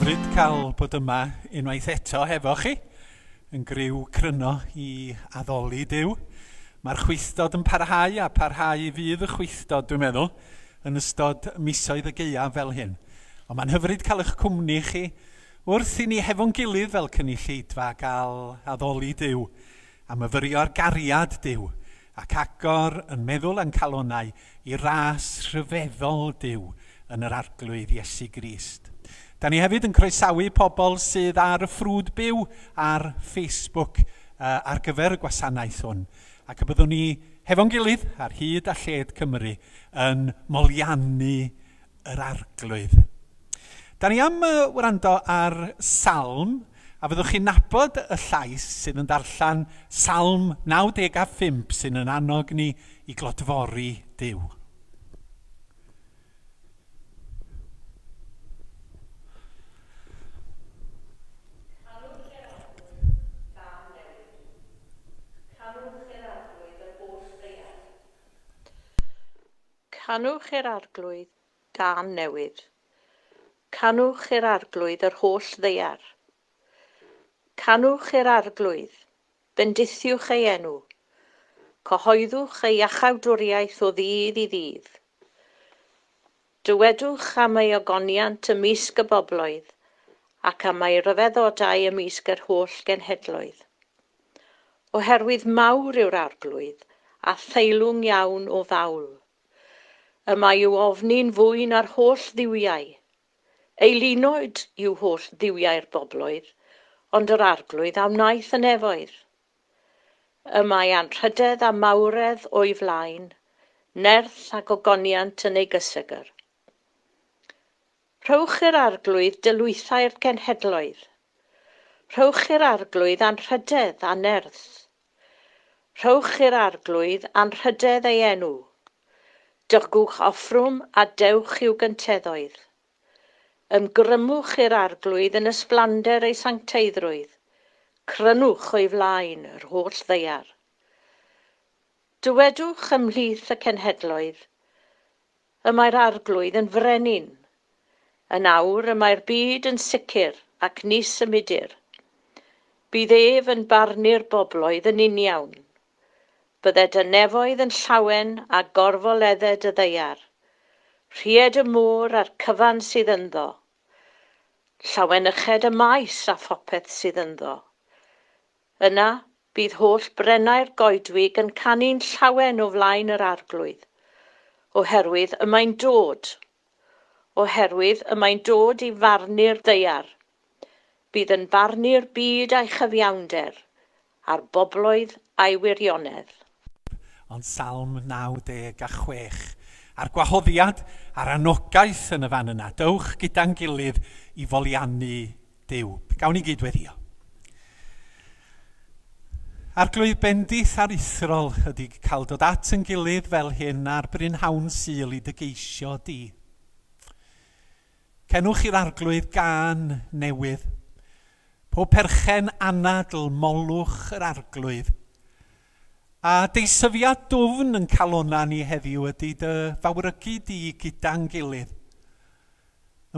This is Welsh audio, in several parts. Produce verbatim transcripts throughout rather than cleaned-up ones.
Hyfryd cael bod yma unwaith eto hefo chi, yn griw cryno i addoli Duw. Mae'r chwithdod yn parhau a parhau fydd y chwithdod, dwi'n meddwl, yn ystod misoedd y gaeaf fel hyn. Ond mae'n hyfryd cael eich cwmni chi wrth i ni hefo'n gilydd fel cynulleidfa gael addoli Duw a myfyrio ar gariad Duw ac agor yn meddwl a'n calonnau i ras rhyfeddol Duw yn yr Arglwydd Iesu Grist. Da ni hefyd yn croesawu pobl sydd ar y ffrwd byw ar Facebook uh, ar gyfer y gwasanaeth hwn. Ac y byddwn ni hefo'n gilydd ar hyd a lled Cymru yn moliannu yr Arglwydd. Da ni am uh, wrando ar salm, a fyddwch chi'n nabod y llais sydd yn darllen Salm naw deg a phump sydd yn annog ni i glodfori Duw. Canwch i'r Arglwydd gân newydd. Canwch i'r Arglwydd yr holl ddaear. Canwch i'r Arglwydd, bendithiwch ei enw. Cyhoeddwch ei iachawdwriaeth o ddydd i ddydd. Dywedwch am ei ogoniant ymysg y bobloedd ac am ei ryfeddodau ymysg yr holl genhedloedd. Oherwydd mawr yw'r Arglwydd a theilwng iawn o fawl. Y mae i'w ofni'n fwy na'r holl dduwiau. Eilunod yw holl dduwiau'r bobloedd, ond yr Arglwydd a wnaeth y nefoedd. Y mae anrhydedd a mawredd o'i flaen, nerth ac ogoniant yn ei gysegr. Rhowch i'r Arglwydd dylwythau'r cenhedloedd. Rhowch i'r Arglwydd anrhydedd a nerth. Rhowch i'r Arglwydd anrhydedd ei enw. Dygwch offrwm a dewch i'w gynteddoedd. Ymgrymwch i'r Arglwydd yn ysblander ei sancteiddrwydd. Crynwch o'i flaen yr holl ddaear. Dywedwch ymhlith y cenhedloedd, y mae'r Arglwydd yn frenin. Yn awr y mae'r byd yn sicr ac ni symudir. Bydd ef yn barnu'r bobloedd yn uniawn. Bydded y nefoedd yn llawen a gorfoledded y ddaear. Rhied y môr a'r cyfan sydd ynddo. Llawenyched y maes a phopeth sydd ynddo. Yna bydd holl brennau'r goedwig yn canu'n llawen o flaen yr Arglwydd, oherwydd y mae'n dod. Oherwydd y mae'n dod i farnu'r ddaear. Bydd yn barnu'r byd a'i chyfiawnder, a'r bobloedd a'i wirionedd. Ond Salm naw deg a chwech. A'r gwahoddiad a'r anogaeth yn y fan yna. Dewch gyda'n gilydd i foliannu Duw. Gawn ni gyd weddio. Arglwydd, bendith aruthrol ydy cael dod at yn gilydd fel hyn ar brynhawn Sul i dy geisio di. Cenwch i'r Arglwydd gân newydd. Pob perchen anadl molwch yr Arglwydd. A deisyfiad dwfn yn calonna ni heddiw ydy dy fawrygu di gyda'n gilydd.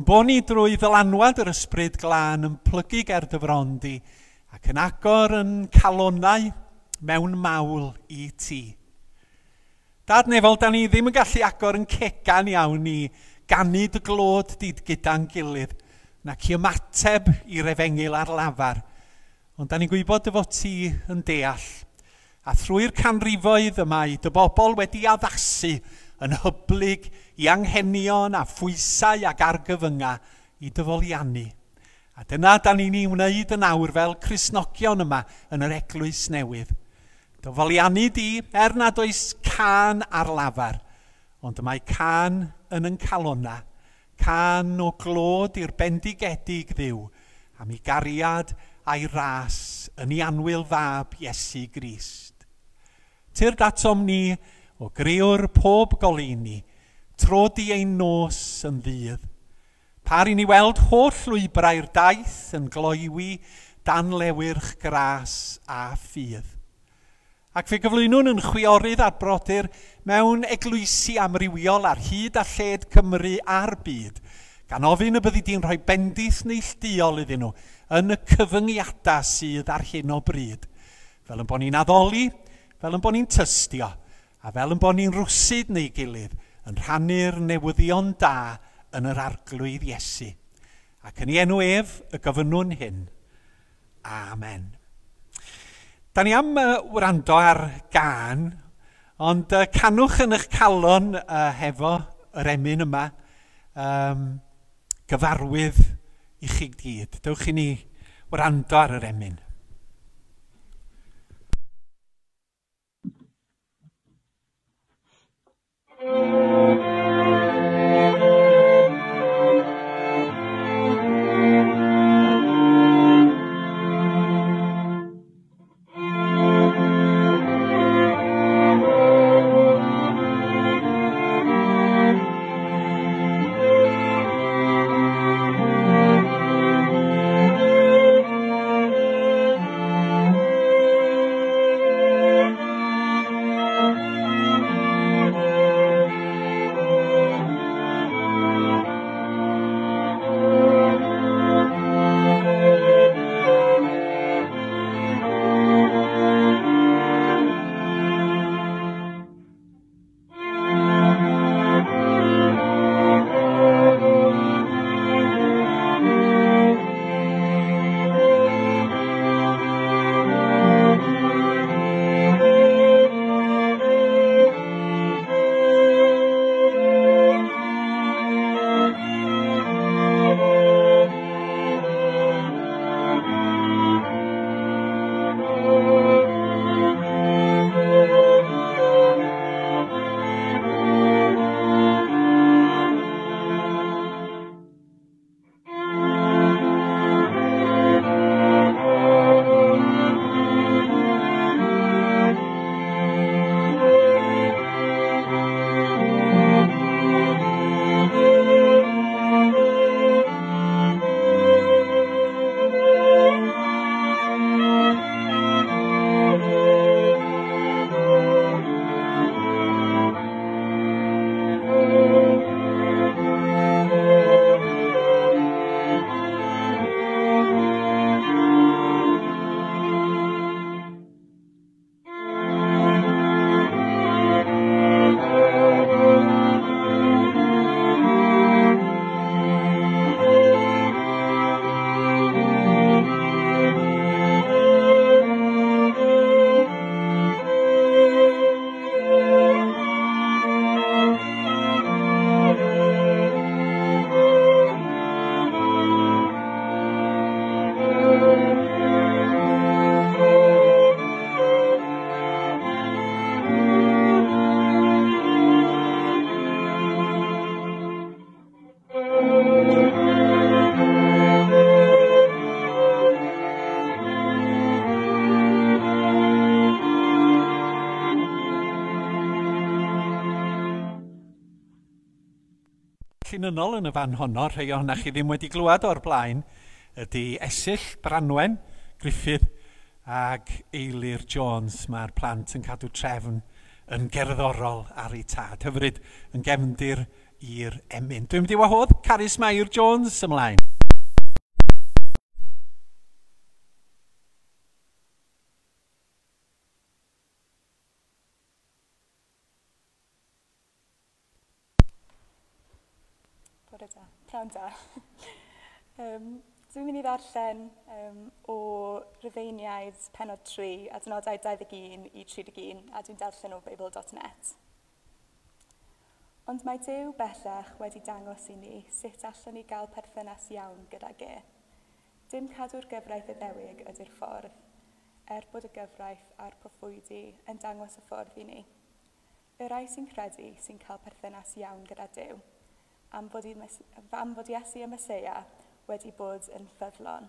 Yn bo ni drwy ddylanwad yr Ysbryd Glân yn plygu ger dy fron di ac yn agor yn calonnau mewn mawl i ti. Dad nefol, da ni ddim yn gallu agor yn cegan iawn i ganu dy glod di gyda'n gilydd, nac i ymateb i'r efengyl ar lafar. Ond da ni'n gwybod dy fod ti yn deall. A thrwy'r canrifoedd y mae dy bobl wedi addasu yn hyblyg i anghenion a phwysau ac argyfyngau i dy foliannu. A dyna da ni'n ei wneud yn awr fel Cristnogion yma yn yr Eglwys Newydd. Dy foliannu di, er nad oes cân ar lafar, ond y mae cân yn yn calonna, cân o glod i'r bendigedig Dduw, am ei gariad a'i ras yn ei annwyl fab Iesu Grist. Tyrd atom ni o greawr pob goleuni, tro di ein nos yn ddydd. Par i ni weld holl lwybrau'r daith yn gloywi dan lewyrch gras a ffydd. Ac fe gyflwynwn yn chwiorydd a'r brodyr mewn eglwysi amrywiol ar hyd a lled Cymru a'r byd, Gan ofyn y byddi di'n rhoi bendith neilltuol iddyn nhw yn y cyfyngiadau sydd ar hyn o bryd. Fel yn bod ni'n addoli, fel yn bod ni'n tystio, a fel yn bod ni'n rwsyd neu gilydd yn rhannu'r newyddion da yn yr Arglwydd Iesu. Ac yn ei enw ef y gofynnwn hyn. Amen. Da ni am uh, wrando ar gân, ond uh, canwch yn eich calon uh, hefo yr emyn yma, um, gyfarwydd i chi gyd. Dewch i ni wrando ar yr emyn. Llinynnol yn y fan honno, rhai ohonoch chi ddim wedi glywed o'r blaen, ydy Esill, Branwen, Gruffydd ag Eilir Jones. Mae'r plant yn cadw trefn yn gerddorol ar eu tad. Hyfryd yn gefndir i'r emyn. Dwi'n mynd i wahodd Carys Mair Jones ymlaen. Bore da, prynhawn da. um, dwi'n mynd i ddarllen um, o Rufeiniaid pennod tri, adnodau dau ddeg un i tri deg un, a dwi'n darllen o Bible dot net. Ond mae Duw bellach wedi dangos i ni sut allwn ni gael perthynas iawn gydag e. Dim cadw'r gyfraith Iddewig ydy'r ffordd, er bod y gyfraith a'r proffwydi yn dangos y ffordd i ni. Y rhai sy'n credu sy'n cael perthynas iawn gyda Duw, am fod, i, am fod Iesu y Meseia wedi bod yn ffyddlon.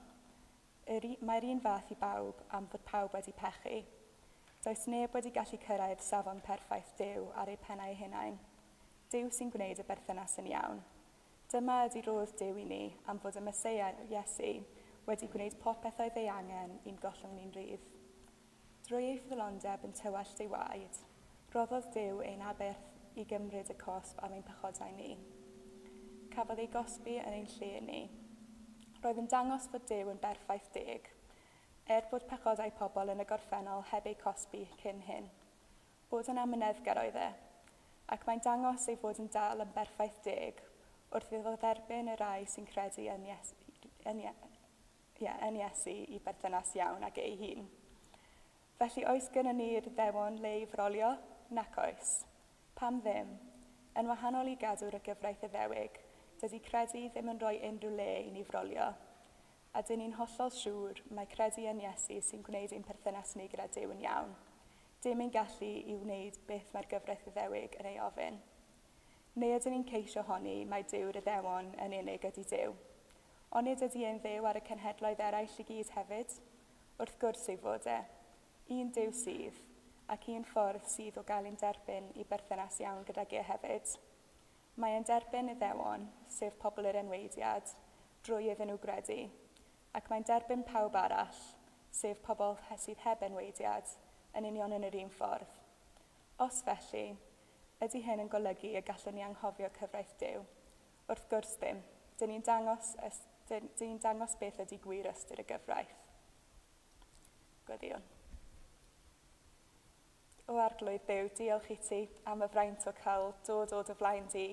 Mae'r un fath i bawb am fod pawb wedi pechu. Does neb wedi gallu cyrraedd safon perffaith Duw ar eu pennau eu hunain. Duw sy'n gwneud y berthynas yn iawn. Dyma ydy rodd Duw i ni am fod y Meseia Iesu wedi gwneud popeth oedd ei angen i'n gollwng ni'n rhydd. Drwy ei ffyddlondeb yn tywallt ei waed, roddodd Duw ein aberth i gymryd y cosb am ein pechodau ni. Cafodd ei gosbi yn ein lle ni. Roedd yn dangos fod Duw yn berffaith deg, er bod pechodau pobl yn y gorffennol heb eu cosbi cyn hyn. Bod yn amyneddgar oedd e, ac mae'n dangos ei fod yn dal yn berffaith deg wrth iddo dderbyn y rai sy'n credu yn Iesu, yn, yeah, yn Iesu i berthynas iawn ag ei hun. Felly oes gennym ni'r Iddewon le i frolio? Nac oes. Pam ddim? Yn wahanol i gadw'r y gyfraith Iddewig, dydy credu ddim yn rhoi unrhyw le i ni frolio. A dyn ni'n hollol siŵr mae credu yn Iesu sy'n gwneud ein perthynas ni gyda Duw yn iawn. Dim ein gallu i wneud beth mae'r gyfraith Iddewig yn ei ofyn. Neu ydyn ni'n ceisio honni mae Duw'r Iddewon yn unig ydy Duw. Onid ydy e'n Dduw ar y cenhedloedd eraill i gyd hefyd? Wrth gwrs ei fod e. Un Duw sydd, ac un ffordd sydd o gael ein derbyn i berthynas iawn gydag e hefyd. Mae e'n derbyn Iddewon, sef pobl yr enweidiad, drwy iddyn nhw gredu, ac mae'n derbyn pawb arall, sef pobl sydd heb enweidiad, yn union yn yr un ffordd. Os felly, ydy hyn yn golygu y gallwn ni anghofio cyfraith Duw? Wrth gwrs ddim. Dyn ni'n dangos, dyn ni'n dangos beth ydy gwir ystyr y gyfraith. Gweddïwn. O Arglwydd Dduw, diolch i ti am y fraint o cael dod o dy flaen di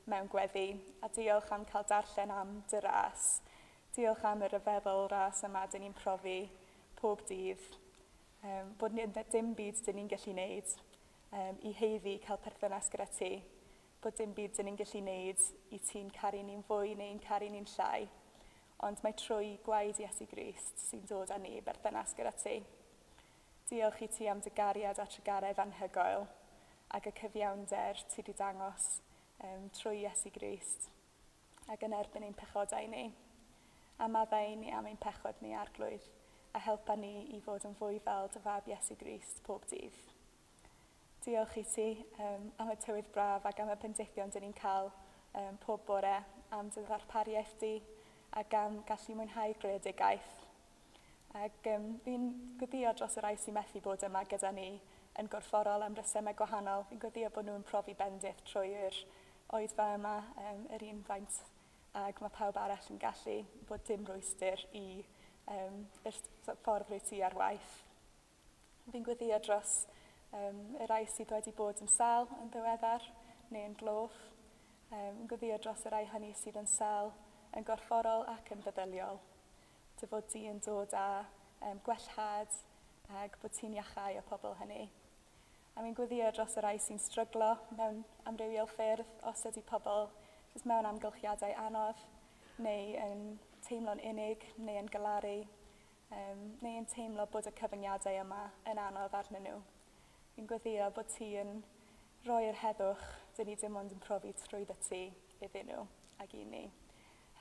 mewn gweddi, a diolch am cael darllen am dy ras. Diolch am y rhyfeddol ras yma dyn ni'n profi pob dydd. Um, bod ni, dim byd dyn ni'n gallu wneud um, i heiddi cael perthynas gyda ti. Bod dim byd dyn ni'n gallu wneud i ti'n caru ni'n fwy neu'n caru ni'n llai. Ond mae trwy gwaed Iesu Grist sy'n dod â ni i berthynas gyda ti. Diolch i ti am dy gariad a trugaredd anhygoel ac y cyfiawnder ti wedi dangos um, trwy Iesu Grist ac yn erbyn ein pechodau ni. A maddau ni am ein pechod ni, Arglwydd, a helpa ni i fod yn fwy fel dy fab Iesu Grist pob dydd. Diolch i ti um, am y tywydd braf ac am y bendithion dyn ni'n cael um, pob bore, am dy ddarpariaeth di ac am gallu mwynhau greadigaeth. Ac um, fi'n gweddio dros y rhai sy'n methu bod yma gyda ni yn gorfforol am resymau gwahanol. Fi'n gweddio bod nhw'n profi bendith trwy'r oedfa yma, um, yr un faint ac mae pawb arall yn gallu bod dim rwystr i um, yr ffordd rwy ti ar waith. Fi'n gweddio dros um, y rhai sydd wedi bod yn sâl yn ddiweddar neu yn gloff. Um, fi'n gweddio dros y rhai hynny sydd yn sâl yn gorfforol ac yn feddyliol. Dy fod di yn dod â um, gwellhad ac bod ti'n iachau y pobl hynny. A mi'n gweddio dros y rhai sy'n stryglo mewn amrywiol ffyrdd, os ydy pobl jyst mewn amgylchiadau anodd, neu yn teimlo'n unig, neu yn galaru, um, neu yn teimlo bod y cyfyngiadau yma yn anodd arnyn nhw. Fi'n gweddio bod ti yn rhoi'r heddwch dyn ni dim ond yn profi trwyddo ti iddyn nhw ac i ni.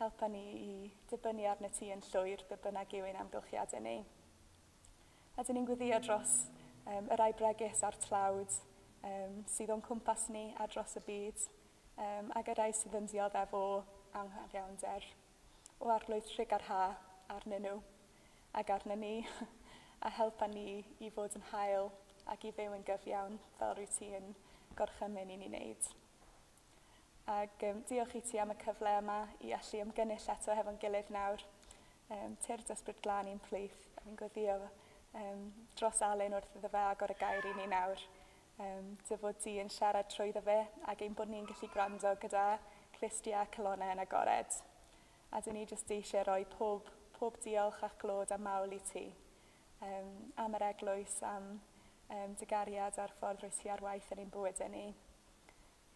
Helpa ni i dibynnu arno ti yn llwyr, be bynnag yw ein amgylchiadau ni. A dyn ni'n gweddio dros um, y rai bregus a'r tlawd um, sydd o'n cwmpas ni a dros y byd, um, ac y rai sydd yn dioddef o anghyfiawnder, o Arglwydd trugarha arnyn nhw ac arnyn ni, a helpa ni i fod yn hael ac i fyw yn gyfiawn fel rwy ti yn gorchymyn i ni wneud. Ac um, diolch i ti am y cyfle yma i allu ymgynnull eto hefo'n gilydd nawr. Um, Tyrd Ysbryd Glân i'n plith. A fi'n gweddio um, dros Alun wrth iddo fe agor y gair i ni nawr. Um, dy fod di yn siarad trwyddo fe ac ein bod ni'n gallu gwrando gyda clustiau a calonnau yn agored. A dyn ni jyst eisiau rhoi pob, pob diolch a clod a mawl i ti. Um, am yr eglwys, am um, dy gariad a'r ffordd rwy ti ar waith yn ein bywydau ni.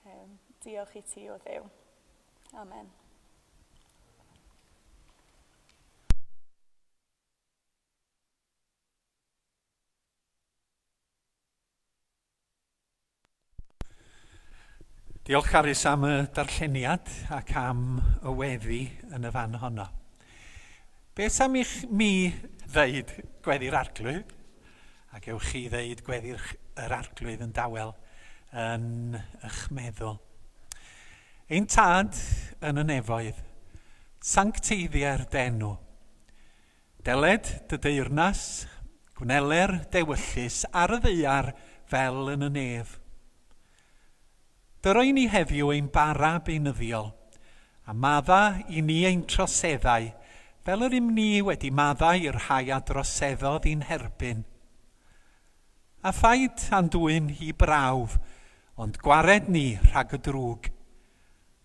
Um, diolch i ti o Dduw. Amen. Diolch Carys am y darlleniad ac am y weddi yn y fan honno. Beth am i'ch mi ddeud gweddi'r Arglwydd? A gewch chi ddeud gweddi'r yr Arglwydd yn dawel yn eich meddwl. Ein tad yn y nefoedd, sancteiddier d'enw. Deled dy deyrnas, gwneler dewyllys ar y ddaear fel yn y nef. Dyroi ni heddiw ein bara beunyddiol, A madda i ni ein troseddau, fel yr ym ni wedi maddau i'r rhai a droseddodd i'n herbyn. A phaid a'n dwyn i brawf, ond gwared ni rhag y drwg.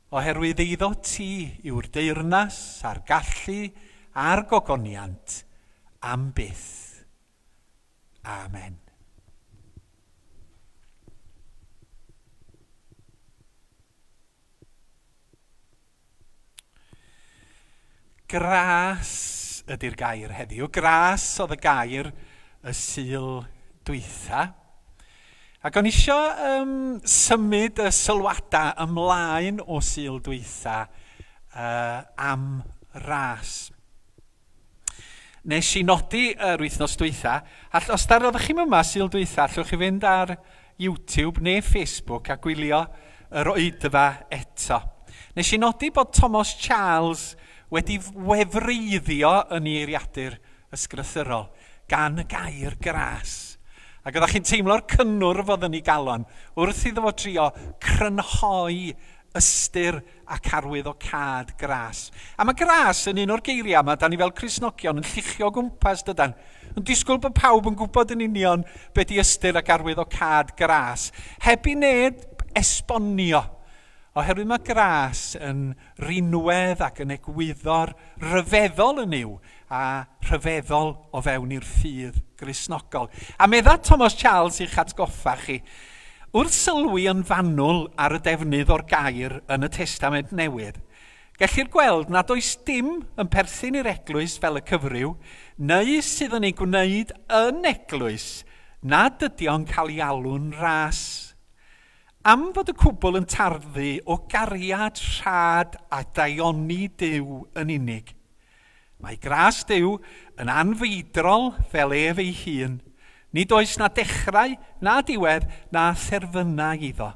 Oherwydd eiddo ti yw'r deyrnas a'r gallu a'r gogoniant am byth. Amen. Gras ydy'r gair heddiw. Gras oedd y gair y Sul dwytha. Ac o'n isio um, symud y sylwadau ymlaen o Sul dwytha uh, am ras. Nes i nodi yr wythnos dwytha, all, os dar oeddech chi'm yma Sul dwytha, allwch chi fynd ar YouTube neu Facebook a gwylio yr oedfa eto. Nes i nodi bod Thomas Charles wedi wefreiddio yn ei eiriadur ysgrythurol gan y gair gras. Ac oeddech chi'n teimlo'r cynnwrf oedd yn ei galon wrth iddo fo trio crynhoi ystyr ac arwydd o cad gras. A mae gras yn un o'r geiriau yma, da ni fel Cristnogion yn lluchio gwmpas dydan. Yn disgwyl bod pawb yn gwybod yn union be di ystyr ac arwydd o cad gras. Heb i neb esbonio. Oherwydd mae gras yn rinwedd ac yn egwyddor rhyfeddol yn yw a rhyfeddol o fewn i'r ffydd Gristnogol. A medda Thomas Charles i'ch atgoffa chi, wrth sylwi yn fanwl ar y defnydd o'r gair yn y Testament Newydd, gellir gweld nad oes dim yn perthyn i'r eglwys fel y cyfryw, neu sydd yn ei gwneud yn eglwys nad ydy o'n cael ei alw'n ras. Am fod y cwbl yn tarddu o gariad, rhad a daioni Duw yn unig. Mae gras Duw yn anfeidrol fel ef ei hun. Nid oes na dechrau, na diwedd, na therfynau iddo.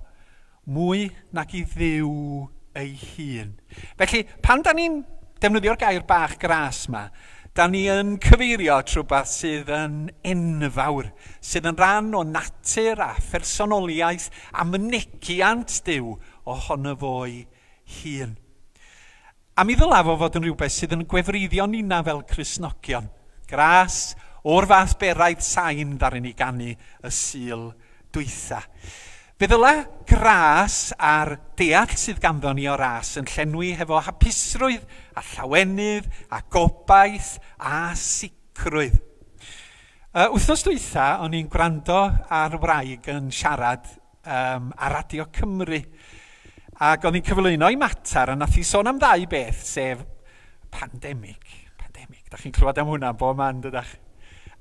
Mwy nag i Dduw ei hun. Felly, pan da ni'n defnyddio'r gair bach gras yma, da ni yn cyfeirio at rhywbeth sydd yn enfawr, sydd yn rhan o natur a phersonoliaeth a mynegiant Duw ohono fo'i hun. A mi ddylai fo fod yn rhywbeth sydd yn gwefreiddio nina fel Cristnogion. Gras o'r fath beraidd sain ddaru ni ganu y Sul dwytha. Fe ddylai gras a'r deall sydd ganddo ni o ras yn llenwi hefo hapusrwydd a llawenydd a gobaith a sicrwydd. Uh, wythnos dwytha, o'n i'n gwrando ar wraig yn siarad um, ar Radio Cymru. Ac o'n i'n cyflwyno i mater a nath hi sôn am ddau beth, sef pandemig. Pandemig, da chi'n clywed am hwnna bob man, dydach?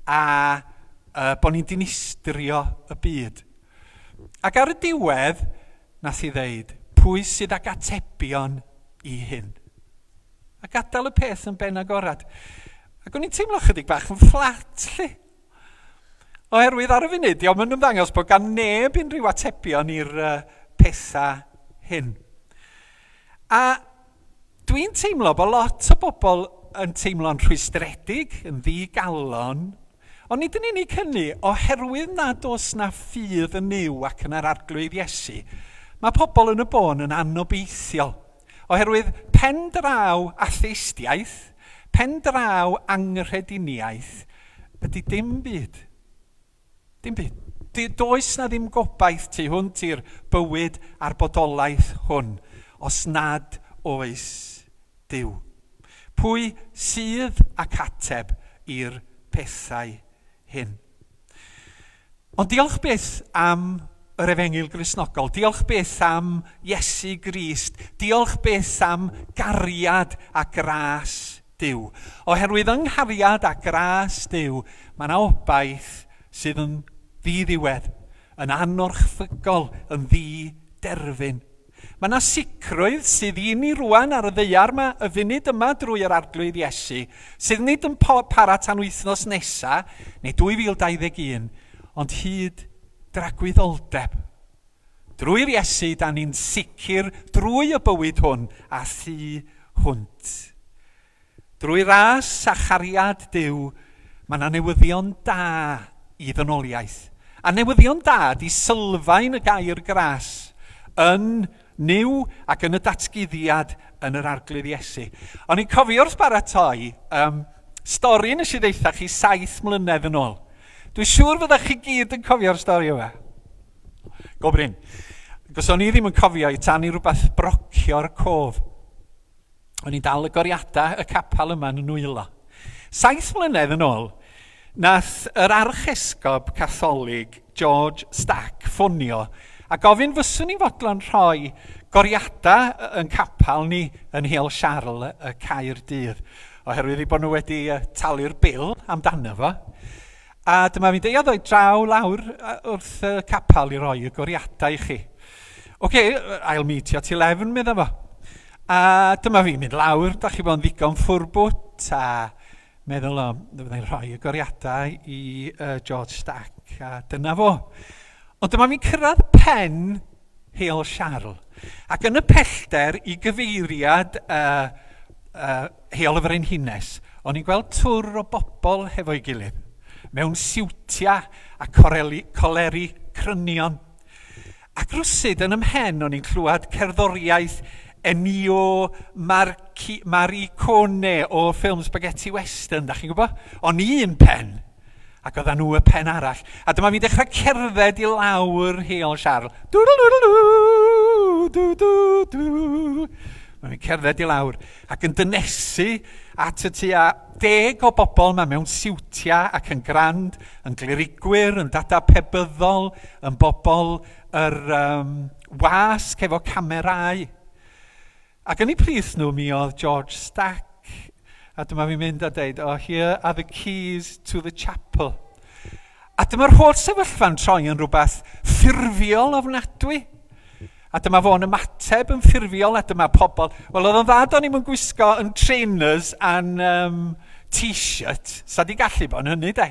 A uh, bod ni'n dinistrio y byd. Ac ar y diwedd, nath hi ddeud, pwy sydd ag atebion i hyn? A gadael y peth yn ben agorad. Ac o'n i'n teimlo chydig bach yn fflat, lle. Oherwydd ar y funud, diolch yn ymddangos bod gan neb unrhyw atebion i'r uh, pethau hyn. A dwi'n teimlo bod lot o bobl yn teimlo'n rhwystredig, yn ddigalon, ond nid yn unig hynny, oherwydd nad oes na ffydd yn Nuw ac yn yr Arglwydd Iesu, mae pobl yn y bôn yn anobeithiol. Oherwydd pen draw atheistiaeth, pen draw anghrediniaeth, ydy dim byd. Dim byd. Does na ddim gobaith tu hwnt i'r bywyd a'r bodolaeth hwn, os nad oes Duw. Pwy sydd ac ateb i'r pethau hyn? Ond diolch byth am yr Efengyl Gristnogol, diolch byth am Iesu Grist, diolch byth am gariad a gras Duw. Oherwydd yng nghariad a gras Duw, mae yna obaith sydd yn ddiddiwedd, yn anorchfygol, yn ddiderfyn. Mae yna sicrwydd sydd i ni rwan ar y ddaear yma, y funud yma drwy yr Arglwydd Iesu, sydd nid yn para tan wythnos nesa, neu dwy fil dau ddeg un, ond hyd dragwyddoldeb. Drwy'r Iesu, da ni'n sicr drwy y bywyd hwn a thu hwnt. Drwy ras a chariad Duw, mae yna newyddion da i ddynoliaeth. A newyddion da di sylfaen y gair gras yn Nuw ac yn y datguddiad yn yr Arglwydd Iesu. O'n i'n cofio wrth baratoi um, stori nes i ddeutha chi saith mlynedd yn ôl. Dwi'n siŵr fyddech chi gyd yn cofio'r stori yma. Go brin. Gos o'n i ddim yn cofio i tan i rhywbeth brocio'r cof. O'n i'n dal y goriadau y capel yma yn y nwylo. Saith mlynedd yn ôl, nath yr archesgob Catholig George Stack ffonio a gofyn fyswn i'n fodlon rhoi goriadau yn capel ni yn Heol Siarl y Caerdydd, oherwydd eu bod nhw wedi talu'r bil amdano fo. A dyma fi'n deud, ddoi draw lawr wrth y capel i roi y goriadau i chi. OK, I'll meet you at eleven, medda fo. A dyma fi'n mynd lawr, da chi bod yn ddigon ffwrbwt, a meddwl, o, fyddai'n rhoi y goriadau i uh, George Stack, a dyna fo. Ond dyma fi'n cyrraedd pen Heol Siarl. Ac yn y pellter i gyfeiriad uh, uh, Heol y Frenhines, o'n i'n gweld twr o bobl hefo'i gilydd, mewn siwtia a coreli, coleri crynion. Ac rwsyd yn ymhen o'n i'n clywed cerddoriaeth Ennio Marci, Morricone o ffilm Spaghetti Western, da chi'n gwybod? O'n i un pen, ac oedden nhw y pen arall. A dyma fi'n dechrau cerdded i lawr Heol Siarl. Dw dw dw dw. Mae'n fi'n cerdded i lawr ac yn dynesu at y tua deg o bobl yma mewn siwtia ac yn grand, yn glerigwyr, yn dada pebyddol, yn bobl yr um, wasg efo camerau. Ac yn eu plith nhw mi oedd George Stack. A dyma fi'n mynd a deud, "Oh, here are the keys to the chapel." A dyma'r holl sefyllfa'n troi yn rhywbeth ffurfiol ofnadwy. A dyma fo'n ymateb yn ffurfiol, a dyma pobl. Wel, oedd o'n dda do'n i'm yn gwisgo yn trainers a'n um, t-shirt. Sa di gallu bod yn hynny, de.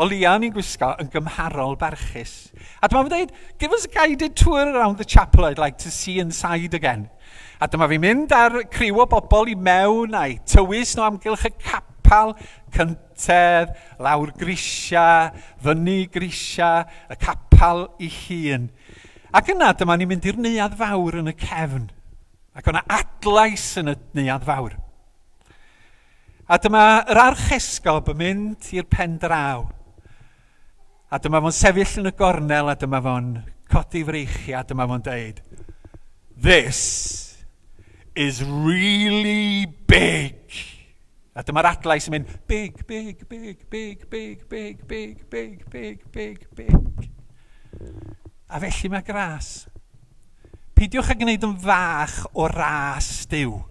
O leia o'n i'n gwisgo yn gymharol barchus. A dyma fo'n dweud, "Give us a guided tour around the chapel, I'd like to see inside again." A dyma fi'n mynd ar criw o bobl i mewn a'i tywys nhw amgylch y capel, cyntedd, lawr grisia, fyny grisia, y capel i hun. Ac yna dyma ni'n mynd i'r neuadd fawr yn y cefn. Ac o'na adlais yn y neuadd fawr. A dyma yr archesgob yn mynd i'r pen draw. A dyma fo'n sefyll yn y gornel a dyma fo'n codi freichiau a dyma fo'n deud, "This is really big." A dyma'r adlais yn mynd, "Big, big, big, big, big, big, big, big, big, big, big." A felly mae gras. Peidiwch â gwneud yn fach o ras Duw.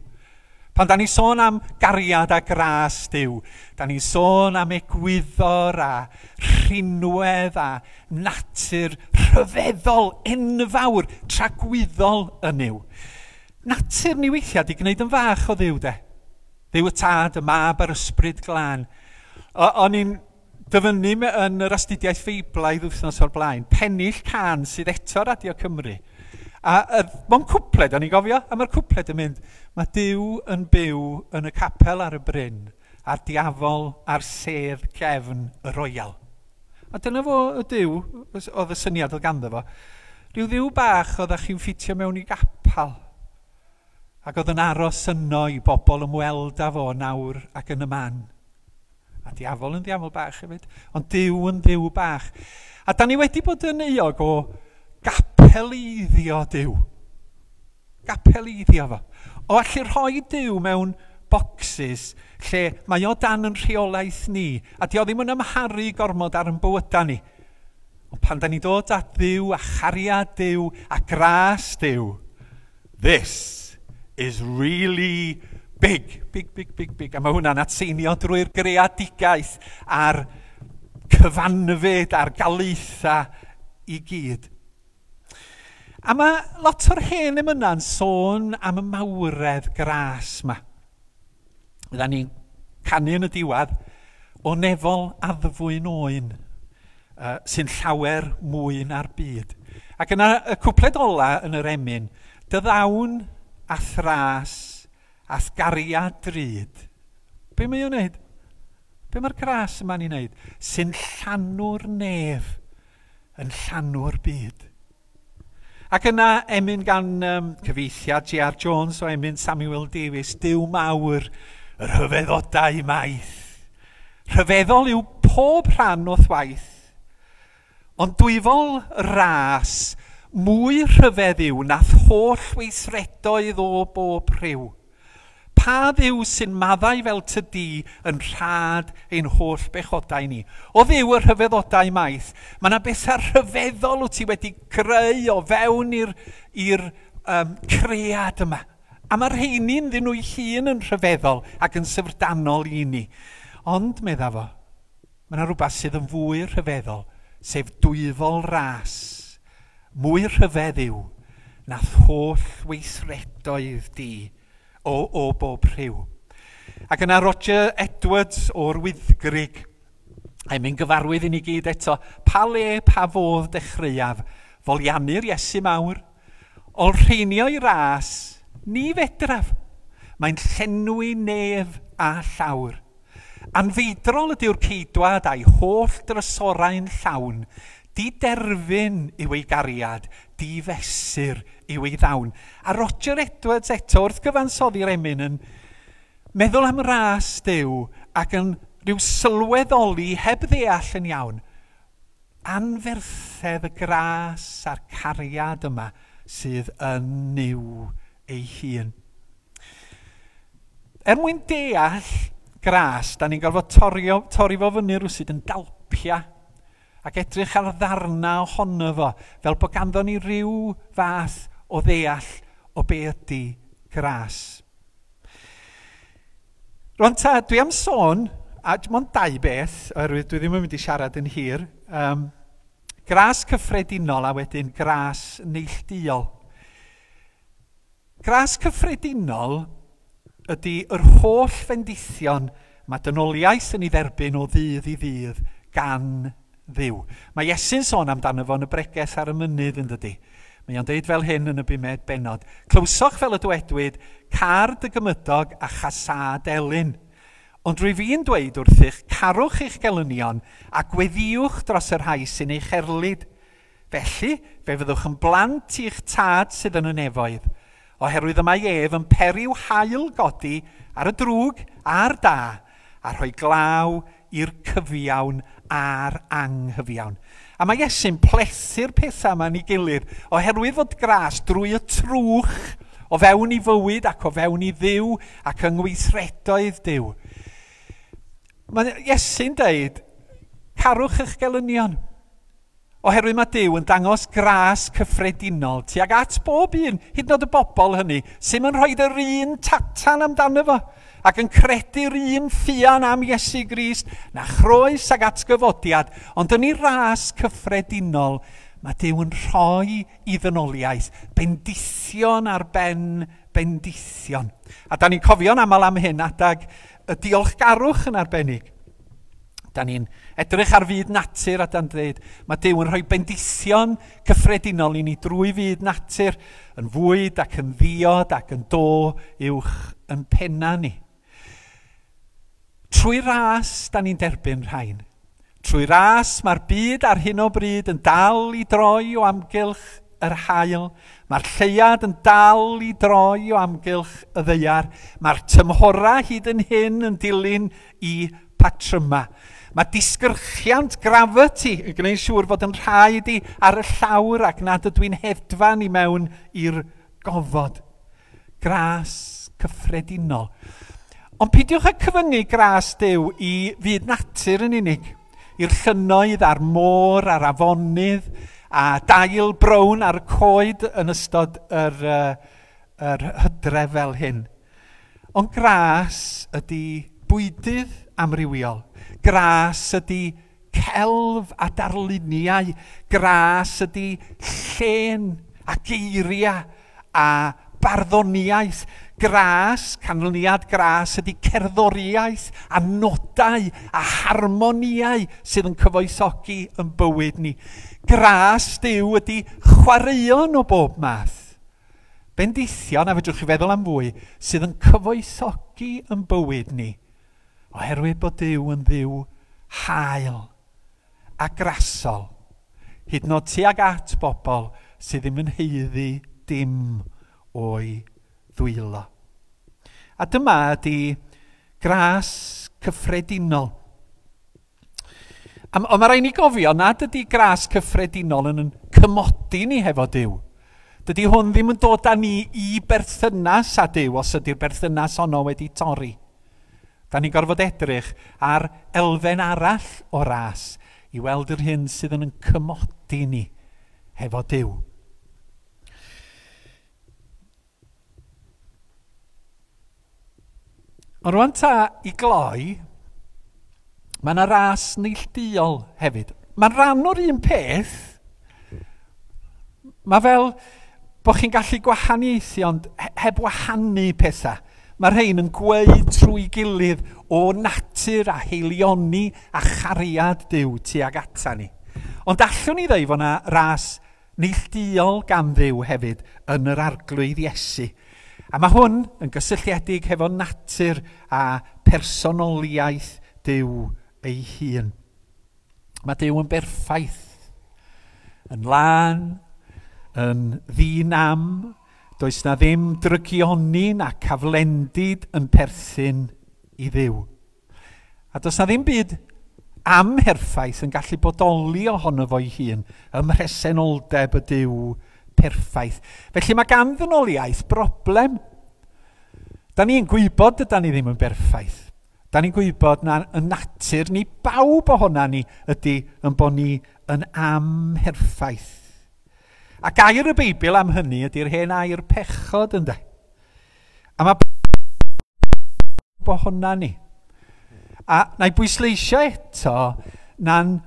Pan da ni sôn am gariad a gras Duw, da ni sôn am egwyddor a rhinwedd a natur rhyfeddol, enfawr, tragwyddol yn Nuw. Natur ni weithiau di gwneud yn fach o Dduw, de. Dduw y Tad, y Mab a'r Ysbryd Glân. O'n i'n dyfynnu yn yr astudiaeth Feiblaidd wythnos o'r blaen, pennill cân sydd eto Radio Cymru. A, a mewn cwpled, o'n i'n gofio, a mae'r cwpled yn mynd, "Mae Duw yn byw yn y capel ar y bryn, a'r diafol ar sedd gefn y Royal." A dyna fo y Duw, oedd y syniad oedd ganddo fo. Rhyw dduw bach oedd chi'n ffitio mewn i gapal. Ac oedd yn aros yno i bobl ymweld â fo nawr ac yn y man. A diafol yn ddiafol bach hefyd, ond Duw yn dduw bach. A da ni wedi bod yn euog o gapeleiddio Duw. Gapeleiddio fo. O allu rhoi Duw mewn boxes lle mae o dan yn rheolaeth ni, a di o ddim yn amharu gormod ar yn bywydau ni. Ond pan da ni dod at Dduw a chariad Duw a gras Duw, this is really big, big, big, big, big. A mae hwnna'n atseinio drwy'r greadigaeth a'r cyfanfyd a'r galaetha i gyd. A mae lot o'r hen emyna'n sôn am y mawredd gras yma. Fydda ni'n canu yn y diwedd o nefol addfwyn oen uh, sy'n llawer mwy na'r byd. Ac yna y cwpled ola yn yr emyn, "Dy ddawn a'th ras a'th gariad drud." Be mae o'n wneud? Be mae'r gras yma'n ei wneud? "Sy'n llanw'r nef, yn llanw'r byd." Ac yna emyn gan um, cyfieithiad G R Jones o emyn Samuel Davies, Duw mawr, y rhyfeddodau maith. Rhyfeddol yw pob rhan o'th waith, ond dwyfol ras mwy rhyfedd yw nath holl weithredoedd o bob rhyw. Pa Dduw sy'n maddau fel tydi yn rhad ein holl bechodau ni? O Dduw y rhyfeddodau maith, mae yna bethau rhyfeddol wyt ti wedi creu o fewn i'r i'r um, cread yma. A mae'r rheini'n ddyn nhw'i hun yn rhyfeddol ac yn syfrdanol i ni. Ond, medda fo, mae yna rhywbeth sydd yn fwy rhyfeddol, sef dwyfol ras. Mwy rhyfedd yw nath holl weithredoedd di o, o bob rhyw. Ac yna Roger Edwards o'r Wyddgrug, a'i mynd gyfarwydd i ni gyd eto, pa le, pa fodd dechreuaf, foliannu'r Iesu mawr, olrheinio i ras, ni fedraf, mae'n llenwi nef a llawr. Anfeidrol ydyw'r ceidwad a'i holl drysorau'n llawn, diderfyn yw ei gariad, difesur yw ei ddawn. A Roger Edwards eto wrth gyfansoddi'r emyn yn meddwl am ras Duw ac yn rhyw sylweddoli heb ddeall yn iawn. Anferthedd y gras a'r cariad yma sydd yn Nuw ei hun. Er mwyn deall gras, da ni'n gorfod torio, torri fo fyny rywsut yn dalpia ac edrych ar ddarna ohono fo, fel bod ganddo ni ryw fath o ddeall o be ydy gras. Rwan ta, dwi am sôn, a mond dau beth, oherwydd dwi ddim yn mynd i siarad yn hir, um, gras cyffredinol a wedyn gras neilltuol. Gras cyffredinol ydy yr holl fendithion mae dynoliaeth yn ei dderbyn o ddydd i ddydd gan Dduw. Mae Iesu'n sôn amdano fo yn y bregeth ar y mynydd yn dydy. Mae o'n deud fel hyn yn y bumed bennod. Clywsoch fel y dywedwyd, car dy gymydog a chasâd elyn. Ond rwy fi'n dweud wrthych, carwch eich gelynion a gweddïwch dros y rhai sy'n eich erlid. Felly, fe fyddwch yn blant i'ch tad sydd yn y nefoedd, oherwydd y mae ef yn periw haul godi ar y drwg a'r da, a rhoi glaw i'r cyfiawn a'r anghyfiawn. A mae Iesu'n plethu'r pethau yma yn ei gilydd, oherwydd fod gras drwy y trwch o fewn i fywyd ac o fewn i Dduw ac yng ngweithredoedd Duw. Mae Iesu'n deud, carwch eich gelynion. Oherwydd mae Duw yn dangos gras cyffredinol tuag at bob un, hyd yn oed y bobl hynny, sy'n yn rhoi yr un tatan amdano fo, ac yn credu'r un ffian am Iesu Grist, na chroes ag atgyfodiad, ond yn ei ras cyffredinol, mae Duw yn rhoi i ddynoliaeth bendithion ar ben bendithion. A da ni'n cofio'n aml am hyn adag y diolchgarwch yn arbennig. Da ni'n edrych ar fyd natur a da'n dweud, mae Duw yn rhoi bendithion cyffredinol i ni drwy fyd natur, yn fwyd ac yn ddiod ac yn do uwch yn penna ni. Trwy ras, da ni'n derbyn rhain. Trwy ras, mae'r byd ar hyn o bryd yn dal i droi o amgylch yr haul. Mae'r lleuad yn dal i droi o amgylch y ddaear. Mae'r tymhorau hyd yn hyn yn dilyn i patryma. Mae disgyrchiant gravity yn gwneud siŵr fod yn rhaid i ar y llawr ac nad ydw i'n hedfan i mewn i'r gofod. Gras cyffredinol. Ond peidiwch â cyfyngu gras Duw i fyd natur yn unig, i'r llynnoedd a'r môr a'r afonydd a dail brown ar y coed yn ystod yr, uh, yr hydref fel hyn. Ond gras ydy bwydydd amrywiol. Gras ydy celf a darluniau. Gras ydy llên a geiriau a barddoniaeth. Gras, canlyniad gras ydy cerddoriaeth a nodau a harmoniau sydd yn cyfoethogi yn bywyd ni. Gras Duw ydy chwaraeon o bob math. Bendithion, a fedrwch chi feddwl am fwy, sydd yn cyfoethogi yn bywyd ni. Oherwydd bod Duw yn Dduw hael a grasol, hyd yn oed tuag at bobl sydd ddim yn haeddu dim o'i ddwylo. A dyma ydy gras cyffredinol. Ond mae rhaid ni gofio nad ydy gras cyffredinol yn cymodi ni hefo Duw. Dydy hwn ddim yn dod â ni i berthynas â Duw os ydy'r berthynas honno wedi torri. Da ni'n gorfod edrych ar elfen arall o ras i weld yr hyn sydd yn cymodi ni hefo Duw. Ond rwan ta i gloi, mae yna ras neilltuol hefyd. Mae'n rhan o'r un peth. Mae fel bod chi'n gallu gwahaniaethu ond heb wahanu pethau. Mae rhain yn gweud trwy gilydd o natur a heilioni a chariad Duw tuag ata ni. Ond allwn ni ddeud fod yna ras neilltuol gan Dduw hefyd yn yr Arglwydd Iesu. A mae hwn yn gysylltiedig hefo natur a personoliaeth Duw ei hun. Mae Duw yn berffaith, yn lân, yn ddinam. Does na ddim drygioni na caflendid yn perthyn i Dduw. A does na ddim byd amherffaith yn gallu bodoli ohono fo'i hun ym mhresenoldeb y Duw perffaith. Felly mae gan ddynoliaeth broblem. Da ni'n gwybod dydan ni ddim yn berffaith. Da ni'n gwybod na y natur ni bawb ohona ni ydy yn bod ni yn amherffaith. A gair y Beibl am hynny ydy'r hen air pechod, ynde. A mae pawb ohona ni. A na i bwysleisio eto na'n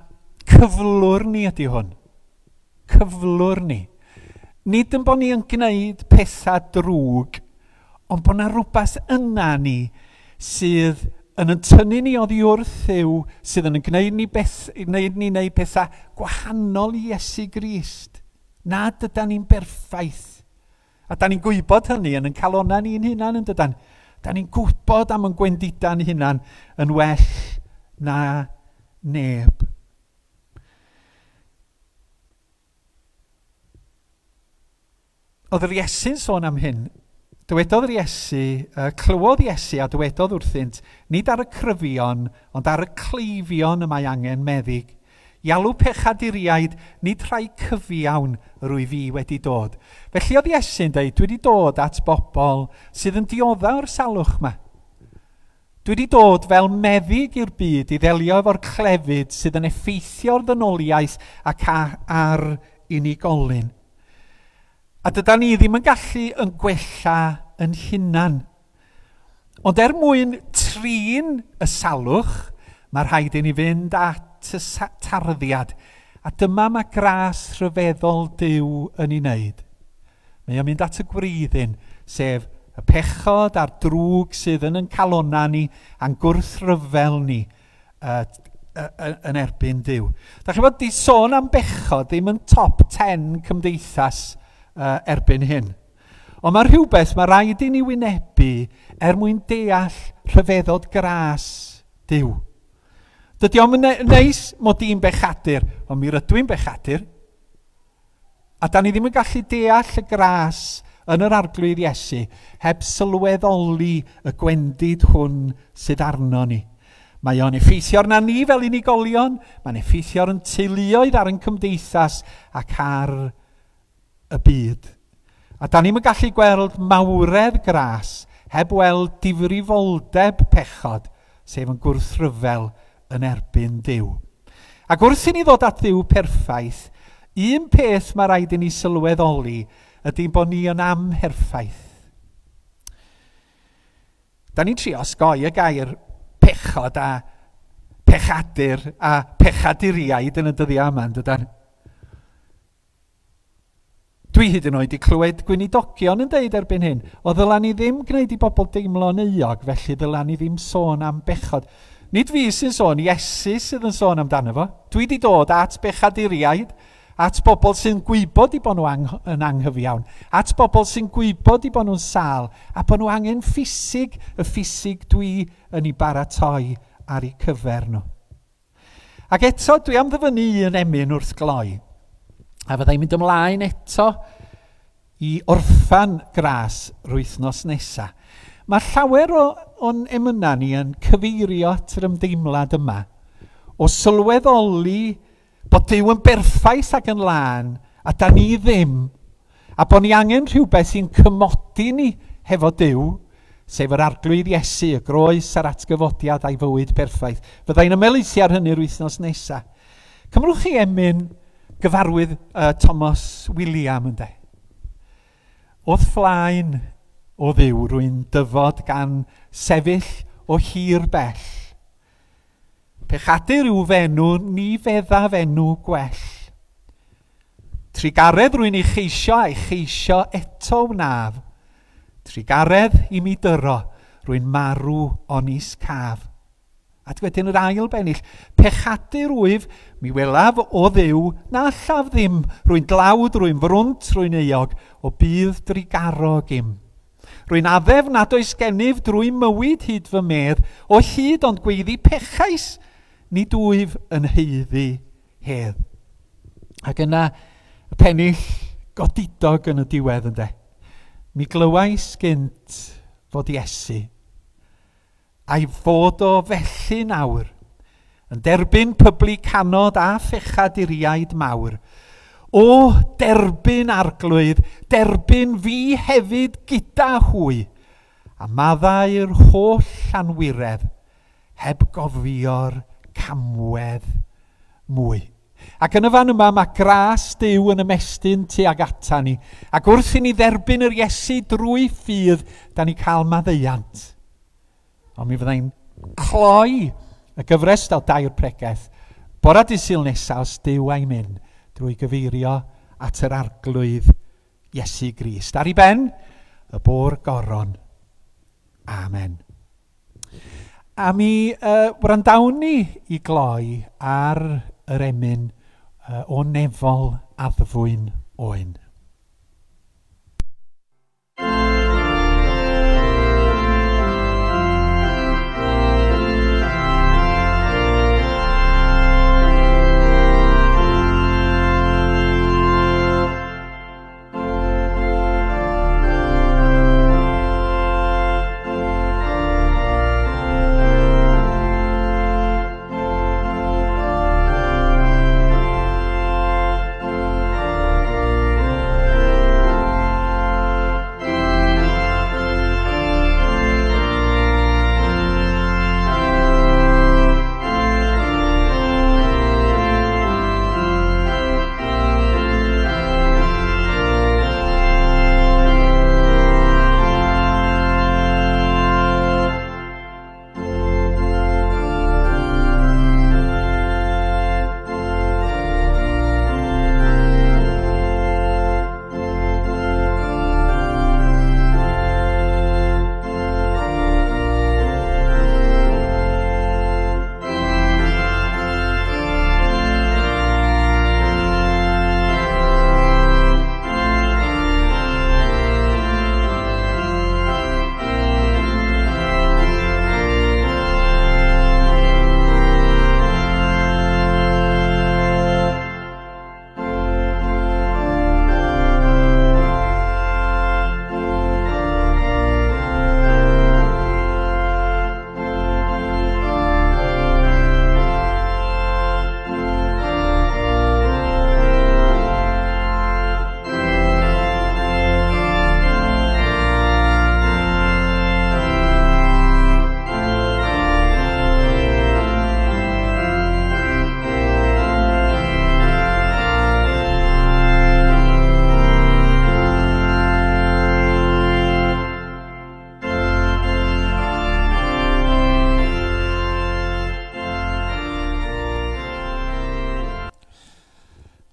cyflwr ni ydy hwn. Cyflwr ni. Nid yn bod ni yn gwneud pethau drwg, ond bod na rhywbeth yna ni sydd yn yn tynnu ni oddi wrth Dduw, sydd yn gwneud ni, beth, gwneud ni wneud pethau gwahanol i Iesu Grist. Nad ydan ni'n berffaith. A da ni'n gwybod hynny yn yn calonnau ni'n hunan, yn dydan. Da ni'n gwybod am yn gwendidau'n hunan yn well na neb. Oedd yr Iesu'n sôn am hyn. Dywedodd yr Iesu, uh, clywodd Iesu a dywedodd wrthynt, nid ar y cryfion, ond ar y cleifion y mae angen meddyg. I alw pechaduriaid, nid rhai cyfiawn yr wyf fi wedi dod. Felly oedd Iesu'n dweud, dwi wedi dod at bobl sydd yn dioddef o'r salwch yma. Dwi wedi dod fel meddyg i'r byd i ddelio efo'r clefyd sydd yn effeithio'r ddynoliaeth ac ar unigolyn. A dydan ni ddim yn gallu yn gwella yn hunan. Ond er mwyn trin y salwch, mae rhaid i ni fynd at y tarddiad. A dyma mae gras rhyfeddol Duw yn ei wneud. Mae o'n mynd at y gwreiddyn, sef y pechod a'r drwg sydd yn yn calonnau ni a'n gwrthryfel ni uh, yn erbyn Duw. Da chi'n bod, di sôn am bechod ddim yn top ten cymdeithas uh, erbyn hyn. Ond mae rhywbeth mae rhaid i ni wynebu er mwyn deall rhyfeddod gras Duw. Dydy o'm yn neis mod i'n bechadur, ond mi rydw i'n bechadur. A da ni ddim yn gallu deall y gras yn yr Arglwydd Iesu heb sylweddoli y gwendid hwn sydd arno ni. Mae o'n effeithio arna ni fel unigolion, mae'n effeithio ar yn teuluoedd, ar yn cymdeithas ac ar y byd. A da ni'n gallu gweld mawredd gras heb weld difrifoldeb pechod, sef yn gwrthryfel yn erbyn Duw. Ac wrth i ni ddod at Dduw perffaith, un peth mae rhaid i ni sylweddoli ydy bod ni yn amherffaith. Da ni'n trio osgoi y gair pechod a pechadur a pechaduriaid yn y dyddiau yma, yn dydan? Dwi hyd yn oed i clywed gweinidogion yn deud erbyn hyn, o ddyla ni ddim gwneud i bobl deimlo'n euog, felly ddyla ni ddim sôn am bechod. Nid fi sy'n sôn, Iesu sydd yn sôn amdano fo. Dwi wedi dod at bechaduriaid, at bobl sy'n gwybod i bod nhw ang yn anghyfiawn, at bobl sy'n gwybod i bod nhw'n sâl, a bod nhw angen ffisig, y ffisig dwi yn ei baratoi ar eu cyfer nhw. Ac eto, dwi am ddyfynnu un emyn wrth gloi. A fyddai'n mynd ymlaen eto i orffan gras wythnos nesaf. Mae llawer o, o'n emynau ni yn cyfeirio at yr ymdeimlad yma o sylweddoli bod Duw yn berffaith ac yn lân a da ni ddim, a bod ni angen rhywbeth sy'n cymodi ni hefo Duw, sef yr Arglwydd Iesu, y groes a'r atgyfodiad a'i fywyd perffaith. Fyddai'n ymhelaethu ar hynny'r wythnos nesaf. Cymrwch chi emyn gyfarwydd uh, Thomas William, ynde? O'th flaen o Dduw rwy'n dyfod gan sefyll o hir bell. Pechadur yw f'enw, ni feddaf enw gwell. Trugaredd rwy'n ei cheisio a'i cheisio eto wnaf. Trugaredd i mi dyro, rwy'n marw onis caf. A wedyn yr ail bennill, pechadur wyf, mi welaf o Dduw, na allaf ddim, rwy'n dlawd, rwy'n frwnt, rwy'n euog, o bydd drugarog im. Rwy'n addef nad oes gennyf drwy mywyd hyd fy medd, o hyd ond gweiddi pechais, nid wyf yn haeddu hedd. Ac yna y pennill godidog yn y diwedd, ynde. Mi glywais gynt fod Iesu, a'i fod o felly nawr, yn derbyn publicanod a phechaduriaid mawr. O, derbyn Arglwydd, derbyn fi hefyd gyda hwy, a maddau'r holl anwiredd, heb gofio'r camwedd mwy. Ac yn y fan yma mae gras Duw yn ymestyn tuag ata ni, ac wrth i ni dderbyn yr Iesu drwy ffydd, da ni cael maddeuant. Ond mi fyddai'n cloi y gyfres o dair pregeth bora dydd Sul nesaf os Duw a'i mynd drwy gyfeirio at yr Arglwydd Iesu Grist. Ar ei ben, y bôr goron. Amen. A mi uh, wrandawn ni i gloi ar yr emyn uh, o nefol addfwyn oen.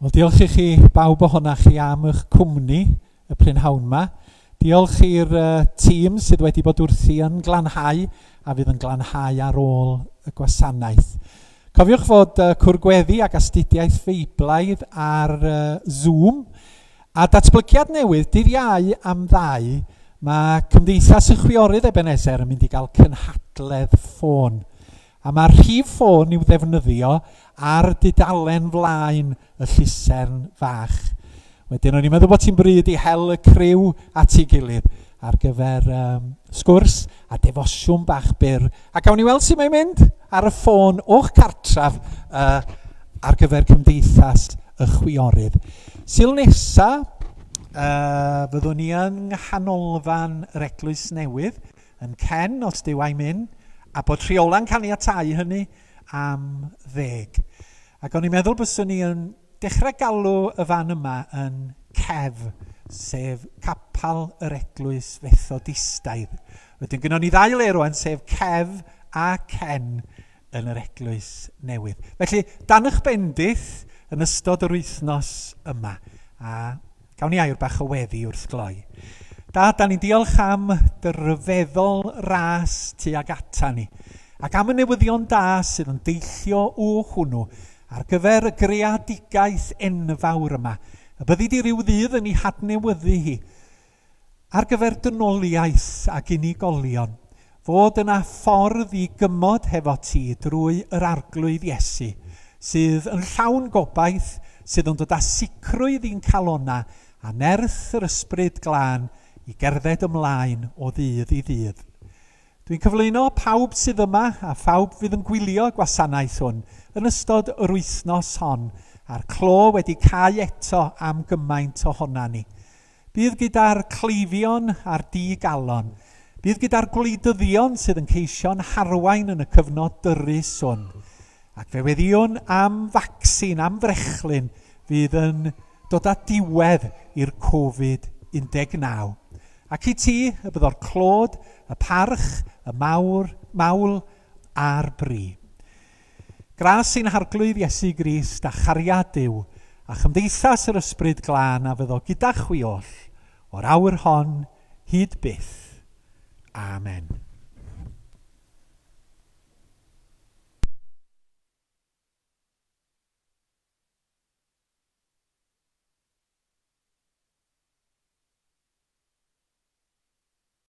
Wel, diolch i chi bawb ohonoch chi am eich cwmni y prynhawn yma. Diolch i'r uh, tîm sydd wedi bod wrthi yn glanhau a fydd yn glanhau ar ôl y gwasanaeth. Cofiwch fod uh, cwrgweddi ac astudiaeth Feiblaidd ar uh, Zoom a datblygiad newydd dydd Iau am ddau, mae Cymdeithas y Chwiorydd Ebenezer yn mynd i gael cynhadledd ffôn. A mae'r rhif ffôn i'w ddefnyddio ar dudalen flaen y llusern fach. Wedyn o'n i'n meddwl bod ti'n bryd i hel y criw at ei gilydd ar gyfer um, sgwrs a defosiwn bach byr. A gawn ni weld sut mae'n mynd ar y ffôn o'ch cartref uh, ar gyfer cymdeithas y chwiorydd. Sul nesa, uh, fyddwn ni yng nghanolfan yr Eglwys Newydd yn Cen, os Duw a'i myn, a bod rheola'n caniatáu hynny am ddeg. Ac o'n i'n meddwl byswn ni yn dechrau galw y fan yma yn Cef, sef Capal yr Eglwys Fethodistaidd. Wedyn gynnon ni ddau le rwan, sef Cef a Cen yn yr Eglwys Newydd. Felly, dan eich bendith yn ystod yr wythnos yma. A gawn ni air bach o weddi wrth gloi. Da, da ni'n diolch am dy ryfeddol ras tuag ata ni, ac am y newyddion da sydd yn deillio o hwnnw ar gyfer y greadigaeth enfawr yma, y byddi di ryw ddydd yn ei hadnewyddu hi, ar gyfer dynoliaeth ac unigolion, fod yna ffordd i gymod hefo ti drwy yr Arglwydd Iesu, sydd yn llawn gobaith, sydd yn dod â sicrwydd i'n calona a nerth yr Ysbryd Glân i gerdded ymlaen o ddydd i ddydd. Dwi'n cyflwyno pawb sydd yma a phawb fydd yn gwylio gwasanaeth hwn yn ystod yr wythnos hon, a'r clo wedi cau eto am gymaint ohona ni. Bydd gyda'r cleifion a'r digalon, bydd gyda'r gwleidyddion sydd yn ceisio'n harwain yn y cyfnod dyrys hwn. Ac fe weddïwn am vaccine, am frechlyn, fydd yn dod â diwedd i'r Covid un deg naw. Ac i ti, y byddo'r clod, y parch, y mawr, mawl a'r bri. Gras i'n Harglwydd Iesu Grist a chariad Duw a chymdeithas yr Ysbryd Glân a fyddo gyda chwi oll o'r awr hon hyd byth. Amen.